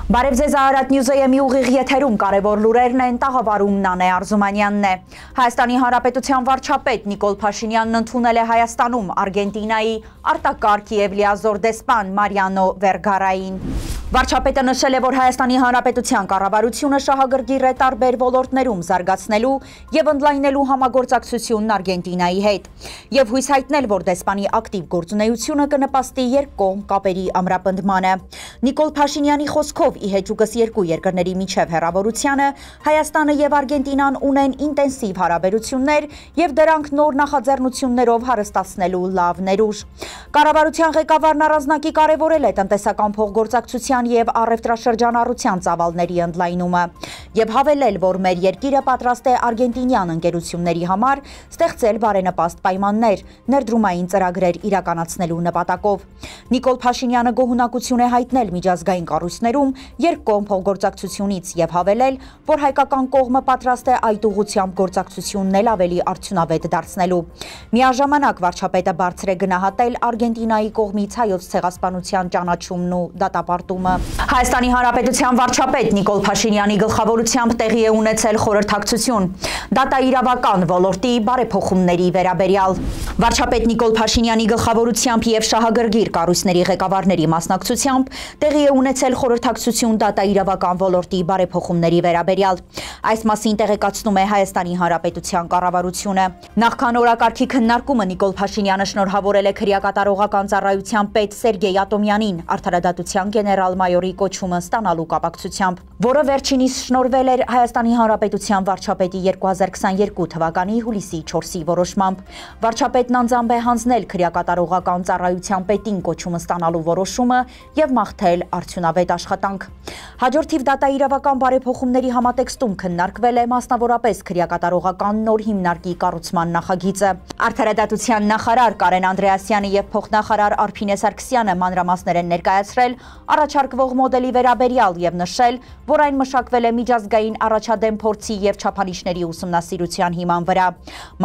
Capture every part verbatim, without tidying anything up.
Բարև ձեզ Արարատ Նյուզեյեմի ուղիղ եթերում կարևոր լուրերն են, տաղավարում Նանե Արզումանյանն է։ Հայաստանի Հանրապետության վարչապետ Նիկոլ Փաշինյանն ընդունել է Հայաստանում Արգենտինայի արտակարգ և լիազոր դեսպան Մարիանո Վերգարային։ Վարչապետը նշել է, որ Հայաստանի Հանրապետության կառավարությունը շահագրգիռ է տարբեր ոլորտներում զարգացնելու և ընդլայնելու համագործակցությունն Արգենտինայի հետ և հույս հայտնել, որ դեսպանի ակտիվ գործունեությունը կնպաստի երկկողմ կապերի ամրապնդմանը։ Նիկոլ Փաշինյանի խոսքով ի հեճուկս երկու երկրների միջև հեռավորությանը Հայաստանը և Արգենտինան ունեն ինտենսիվ հարաբերություններ և դրանք նոր նախաձեռնություններով հարստացնելու լավ ներուժ։ Կառավարության ղեկավարն առանձնակի կարևորել է տնտեսական փոխգործակցության և առևտրաշրջանառության ծավալների ընդլայնումը և հավելել, որ մեր երկիրը պատրաստ է արգենտինյան ընկերությունների համար ստեղծել բարենպաստ պայմաններ ներդրումային ծրագրեր իրականացնելու նպատակով։ Նիկոլ Փաշինյանը գոհունակություն է հայտնել միջազգային կառույցներում երկկողմ փոխգործակցությունից և հավելել, որ հայկական կողմը պատրաստ է այդ ուղղությամբ գործակցությունն էլ ավելի արդյունավետ դարձնելու։ Միաժամանակ վարչապետը բարձր է գնահատել Արգենտինայի կողմից հայոց ցեղասպանության ճանաչումն ու դատապարտումը։ Հայաստանի Հանրապետության վարչապետ Նիկոլ Փաշինյանի գլխավորությամբ տեղի է ունեցել խորհրդակցություն դատաիրավական ոլորտի բարեփոխումների վերաբերյալ։ Վարչապետ Նիկոլ Փաշինյանի գլխավորությամբ և շահագրգիռ կառույցների ղեկավարների մասնակցությամբ տեղի է ունեցել խորհրդակցություն դատաիրավական ոլորտի բարեփոխումների վերաբերյալ։ Այս մասին տեղեկացնում է Հայաստանի Հանրապետության կառավարությունը։ Նախքան օրակարգի քննարկումը Նիկոլ Փաշինյանը շնորհավորել է քրեակատարողական ծառայության պետ Սերգեյ Ատոմյանին արդարադատության գեներալ-մայորի կոչումը ստանալու կապակցությամբ, որը վերջինիս շնորհվել էր Հայաստանի Հանրապետության վարչապետի երկու հազար քսաներկու թվականի հուլիսի չորսի որոշմամբ։ Վարչապետն անձամբ է հանձնել քրեակատարողական ծառայության պետին կոչումը ստանալու որոշումը և մաղթել արդյունավետ աշխատանք։ Հաջորդիվ դատաիրավական բարեփոխումների համատեքստում քննարկվել է մասնավորապես քրեակատարողական նոր հիմնարկի կառուցման նախագիծը։ Արդարադատության նախարար Կարեն Անդրեասյանը և փոխնախարար Արփինե Սարգսյանը մանրամասներ են ներկայացրել առաջարկվող մոդելի վերաբերյալ և նշել, որ այն մշակվել է միջազգային առաջադեմ փորձի և չափանիշների ուսումնասիրության հիման վրա,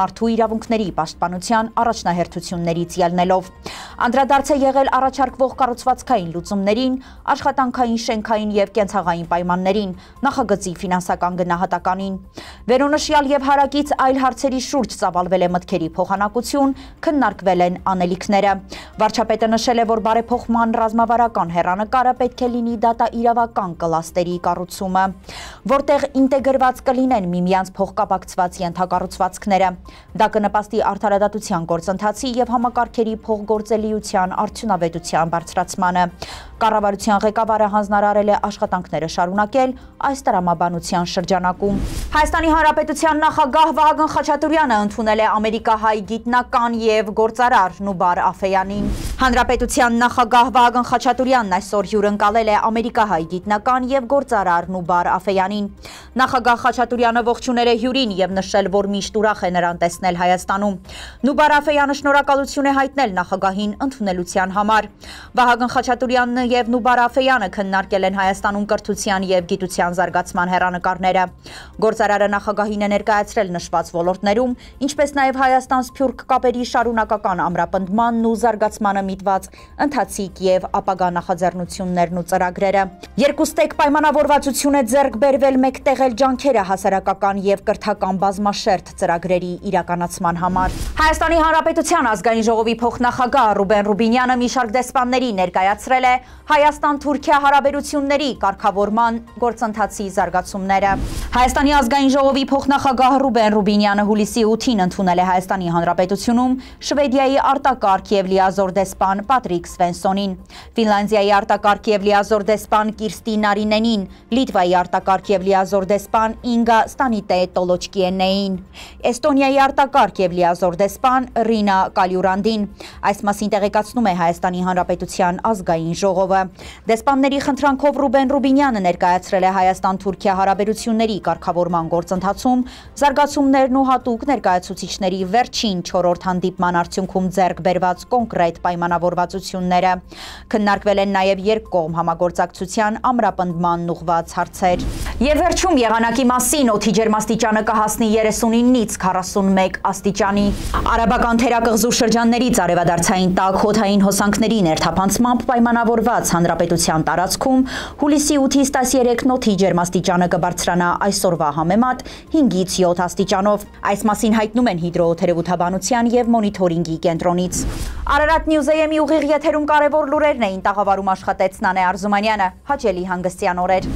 մարդու իրավունքների պաշտպանության առաջնահերթություններից ելնելով։ Անդրադարձ է եղել առաջարկվող կառուցվածքային լուծումներին, աշխատանքային, շենքային և կենցաղային պայմաններին, նախագծի ֆինանսական գնահատականին։ Վերոնշյալ և հարակից այլ հարցերի շուրջ ծավալվել է մտքերի փոխանակություն, քննարկվել են անելիքները։ Վարչապետը նշել է, որ բարեփոխման ռազմավարական հեռանկարը պետք է լինի դատաիրավական կլաստերի կառուցումը, որտեղ ինտեգրված կլինեն միմյանց փոխկապակցված ենթակառուցվածքները։ Դա կնպաստի արդարադատության գործընթացի և համակարգերի փոխգործելիության արդյունավետության բարձրացմանը։ Կառավարության ղեկավարը հանձնարարել է աշխատանքները շարունակել այս տրամաբանության շրջանակում։ Հայաստանի Հանրապետության նախագահ Վահագն Խաչատուրյանը ընդունել է ամերիկահայ գիտնական և գործարար Նուբար Աֆեյանին։ Հանրապետության նախագահ Վահագն Խաչատուրյանն այսօր հյուրընկալել է ամերիկահայ գիտնական և գործարար Նուբար Աֆեյանին։ Նախագահ Խաչատուրյանը ողջունել է հյուրին և նշել, որ միշտ ուրախ է նրան տեսնել Հայաստանում։ Նուբար Աֆեյանը շնորհակալություն է հայտնել նախագահին ընդունելության համար։ Վահագն Խաչատուրյանն և Նուբար Աֆեյանը քննարկել են Հայաստանում կրթության և գիտության զարգացման հեռանկարները։ Գործարարը նախագահին է ներկայացրել նշված ոլորտներում, ինչպես նաև Հայաստան-Սփյուռք կապերի շարունակական ամրապնդմանն ու զարգացմանը միտված ընթացիկ և ապագա նախաձեռնություններն ու ծրագրերը։ Երկուստեք պայմանավորվածություն է ձեռք բերվել մեկտեղել ջանքերը հասարակական և կրթական բազմաշերտ ծրագրերի իրականացման համար։ Հայաստանի Հանրապետության ազգային ժողովի փոխնախագահ Ռուբեն Ռուբինյանը մի շարք դեսպանների ներկայացրել է Հայաստան-Թուրքիա հարաբերությունների կարգավորման գործընթացի զարգացումները։ Հայաստանի ազգային ժողովի փոխնախագահ Ռուբեն Ռուբինյանը հուլիսի ութին ընդունել է Հայաստանի Հանրապետությունում Շվեդիայի արտակարգ և լիազոր դեսպան Պատրիկ Սվենսոնին, Ֆինլանդիայի արտակարգ և լիազոր դեսպան Կիրստի Նարինենին, Լիտվայի արտակարգ և լիազոր դեսպան Ինգա Ստանիտե Տոլոչկիենեին, Էստոնիայի արտակարգ և լիազոր դեսպան Ռինա Կալյուրանդին։ Այս մասին տեղեկացնում է Հայաստանի Հանրապետության ազգային ժողովը։ Դեսպանների խնդրանքով Ռուբեն Ռուբինյանը ներկայացրել է Հայաստան-Թուրքիա հարաբերությունների կարգավորման գործընթացում զարգացումներն ու հատուկ ներկայացուցիչների վերջին չորրորդ հանդիպման արդյունքում ձեռք բերված կոնկրետ պայմանավորվածությունները։ Քննարկվել են նաև երկկողմ համագործակցության ամրապնդմանն ուղղված հարցեր։ Եվ վերջում եղանակի մասին օդի ջերմաստիճանը կհասնի երեսունինից քառասունմեկ աստիճանի։ Արաբական թերակղզու շրջաններից արևադարձային Տաք հոդային հոսանքների ներթափանցմամբ պայմանավորված հանրապետության տարածքում հուլիսի ութից տասներեք նոթի ջերմաստիճանը կբարձրանա այսօրվա համեմատ հինգից յոթ աստիճանով։ Այս մասին հայտնում են հիդրոթերապևտաբանության եւ մոնիթորինգի կենտրոնից։ Արարատ Նյուզեյեմի ուղիղ եթերում կարևոր լուրերն էին տաղավարում աշխատեց Նանե Արզումանյանը։ Հաճելի հանգստյան օրեր։